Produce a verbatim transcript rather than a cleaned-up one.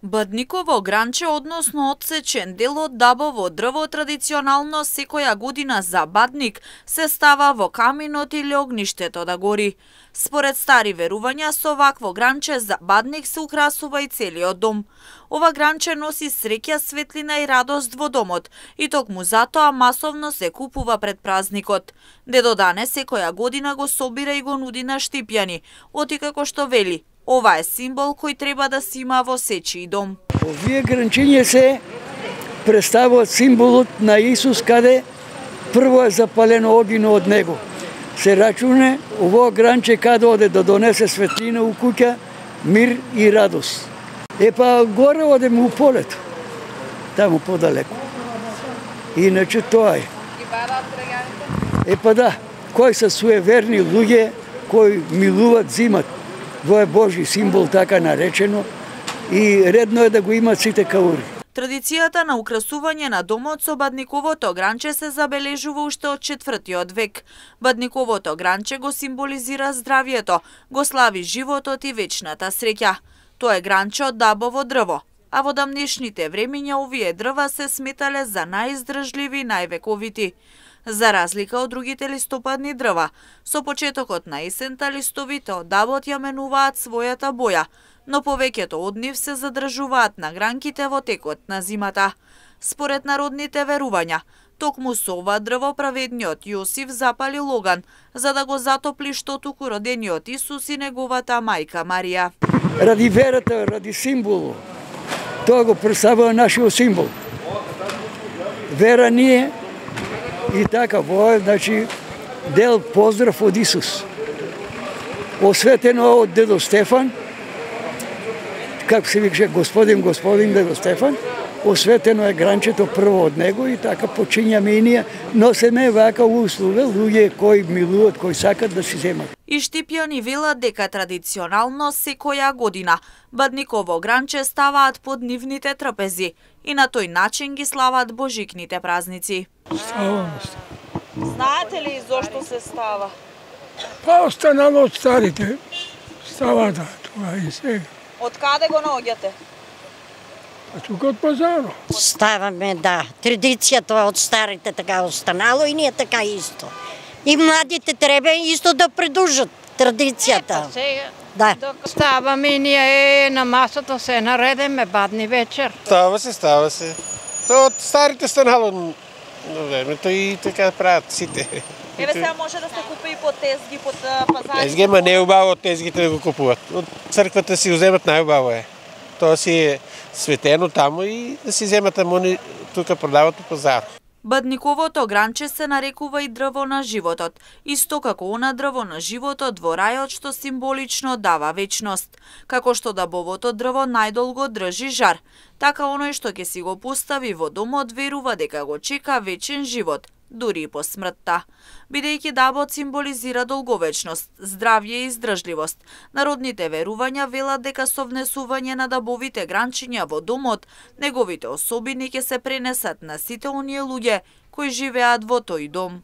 Бадниково гранче, односно одсечен дел од дабово дрво, традиционално секоја година за Бадник се става во каминот или огништето да гори. Според стари верувања, со вакво гранче за Бадник се украсува и целиот дом. Ова гранче носи среќа, светлина и радост во домот и токму затоа масовно се купува пред празникот. Дедо Дане секоја година го собира и го нуди на Штипјани, оти како што вели: ова е символ кој треба да се има во сечи дом. Овие гранчиња се представуваат символот на Исус, каде прво е запалено огино од него. Се рачуне ово гранче каде оде да донесе светлина у куќа, мир и радост. Епа горе одеме у полето, таму подалеку. Иначе тоа е. Епа да, кои се суеверни луѓе, кои милуват зимат. Во е Божи символ, така наречено, и редно е да го имат сите каури. Традицијата на украсување на домот со бадниковото гранче се забележува уште од четвртиот век. Бадниковото гранче го символизира здравието, го слави животот и вечната среќа. Тоа е гранче од дабово дрво, а во дамнешните времиња овие дрва се сметале за наиздржливи и највековити. За разлика од другите листопадни дрва, со почетокот на есента листовите од дабот ја менуваат својата боја, но повеќето од нив се задржуваат на гранките во текот на зимата. Според народните верувања, токму со ова дрво праведниот Јосиф запали оган, за да го затопли што туку родениот Исус и неговата мајка Марија. Ради верата, ради символот, тоа го представува нашиот символ. Вера ние и така, во е, значи, дел поздрав од Исус. Осветено од дедо Стефан, како се викаше господин, господин дедо Стефан, осветено е гранчето прво од него и така почињаме и ние, носеме вака услуга луѓе кои милуват, кои сакат да си земат. И Штипјани велат дека традиционално секоја година бадниково гранче ставаат под нивните трпези и на тој начин ги слават божикните празници. Става. Знаете ли зошто се става? Па останало од старите. Става да, тоа и сега. Од каде го наоѓате? А тука од пазарот. Ставаме, да. Традицијата од старите така останало и ние така исто. И младите треба исто да придружат традицијата. Епа сега, да. Ставаме и ние на масата се наредеме бадни вечер. Става се, става се. Тоа од старите станало на времето и така прават сите. Еве сега може да се купи и по тезги, по пазари. Тезги, ма не е убаво од тезгите да го купуват. Од црквата си уземат најубаво е. Тоа си е светено таму и да си земат амони тука продават по пазар. Бадниковото гранче се нарекува и дрво на животот, исто како она дрво на животот во рајот што символично дава вечност. Како што дабовото дрво најдолго држи жар, така оној што ќе си го постави во домот верува дека го чека вечен живот, дури и по смртта. Бидејќи дабот символизира долговечност, здравје и издржливост, народните верувања велат дека со внесување на дабовите гранчиња во домот, неговите особини ќе се пренесат на сите оние луѓе кои живеат во тој дом.